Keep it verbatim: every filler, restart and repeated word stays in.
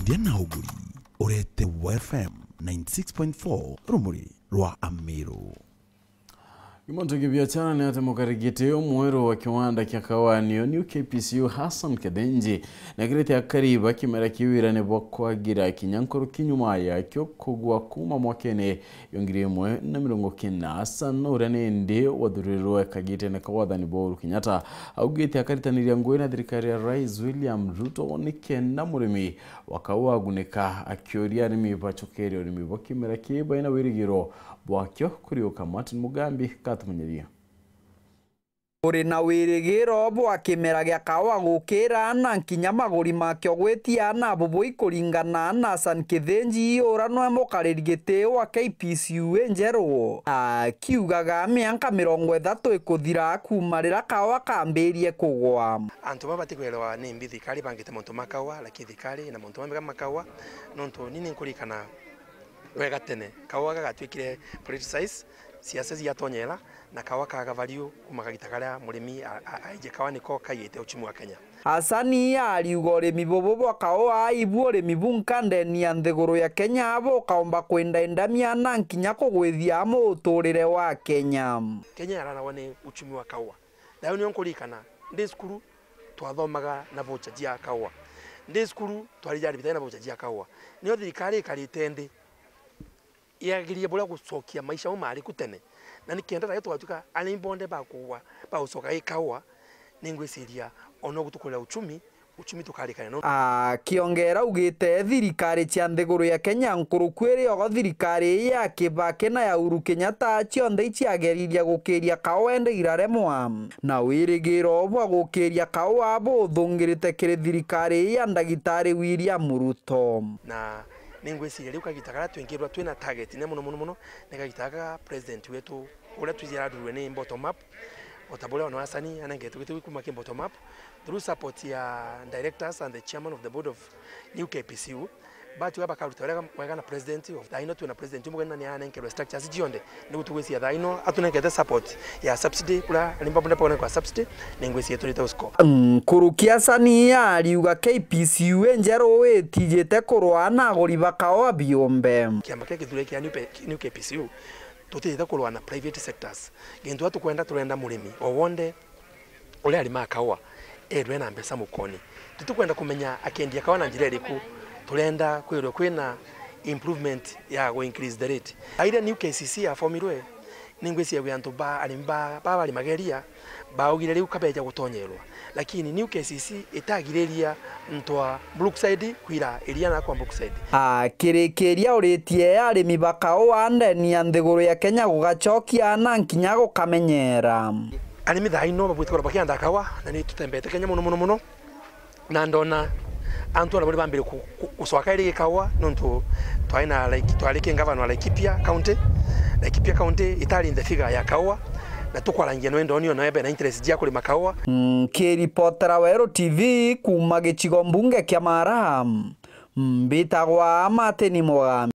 Endia na uguri, uretewa F M ninety six point four, rumuri rwa Amiru. Kimonto kia biashara ni ati mukarigiti umweru wa kiwanda kia kawa niyo New K P C U Hassan Kithinji, nekirite akari ba kimera kiu wirane bwa kwagira kinya nkuruki nyuma yakio kugwa kuma mwakene yo ngiri imwe na mirongo kenda. Hassan uria ni indi wathurirwe kagitene ka wathani bwa Uhuru Kenyatta, augite akaritaniria ngugi na thirikari ya Rais William Ruto ni kenda murimi wa kaua agunika, akiuria arimi bacokerie urimi bwa kimera kii baina wirigiro bwakio kuriuka. Martin Mugambi katumenyeria. Uri na wirigiro bwa kimera gia kaua gukira na nkinya maguri makio gwitia na bubui kuringana na Hassan Kithinji, ura nwe mukariri giti wa K P C U injeru, akiugaga mianka mirongo ithatu ikuthira kuma rira kaua kambirie kugwa. Antu baba batikwelewa ni mbi thirikari bangite mauntu ma kaua, lakini thirikari na mauntu mamega ma kaua, nontu ni ninkurikana wega tene, kaua gagatwikire politicized, siasa ciatonyera, na kaua kaga value kuma kagita karia murimi a-, a-, aiji kaua niko kaiyite uchumi wa Kenya. Hassan ariuga urimi bubu bwa kaua ibu urimi bunka ndeni ya nthiguru ya Kenya bukaumba kwindaindamia na nkinya kugwithia muturire wa Kenya. Kenya yararagwa ni uchumi wa kaua. Nayo nio nkurikana, ndi cukuru twathomaga na voucher cia kaua. Ndi cukuru twarija aribitari na voucher cia kaua. Nio thirikari ikarite ndi, yagirie buria gucokia maisha mau mari ku tene. Na ni kenda nayo tugatuika arimi bonthe ba kugwa, ba gucoka i kaua, ningwiciria ona ugu tukurira uchumi, uchumi tukarikania no. Akiongera augite thirikari cia nthiguru ya Kenya nkuruku iri ogo thirikari ya Kibaki na ya Uhuru Kenyatta cionthe iciageririe gukiria kaua indi iraremwa. Na wirigiro bwa gukiria kaua buthungirite kiri thirikari ya ndagitari William Ruto. Na ningwiciria riu kagita karia twingirwa twina target nene muno muno muno ni kagita gaka president wetu uria twijira athurwe ni bottom up, o ta buria ona Hassan anengetwe giti gikuma ki bottom up through support ya directors and the chairman of the board of New K P C U. Batuga bakaruta wega, wega na president of, thaa ino twina president umwe na ni anenkerwe structures cionthe, nigu tugwiciria thaa ino atunenkete support ya subsidy, kuria arimi babo ndepo kwa subsidy, ningwiciria turite usco. Nkuruki Hassan ariuga K P C U injeru itijite kurwa na aguri ba kaua biumbe. Kiama kia kithure kia New P-, New K P C U tutijite kurwa na private sectors. Gintu tukwenda, turenda murimi o wonthe uria arimaa kaua, erwe na mbeca mukoni. Tutikwenda kumenya akiendia kaua na njira iriku, turenda kwirwe kwina improvement ya gu increase the rate. Aira new K C C yafomirwe, ningwiciria gwi antu ba arimi ba, ba bari mageria, baugire riu kabeja gutonyerwa. Lakini new K C C itagiriria ntwa Brookside kwira iria na kwa Brookside. Akirikiria uritie arimi ba kaua ndeni ya nthiguru ya Kenya gugacokia na nkinya gukamenyera. Arimi thaa ino babwite kurwa bakianda kaua, na ni tutembete Kenya muno muno muno. Na ndona antu ara bari bambire ku-, ku-, gucoka iri kaua, nontu twari na Laik-, twari ki ngavana wa Laikipia County. Laikipia County itari in the figure ya kaua, na tukwarangia no ndoni ona ebe na interest jia kurima kaua. Nkiripotera Weru T V kuma gicigo mbunge kia Mara, mbitagwa Martin Mugambi.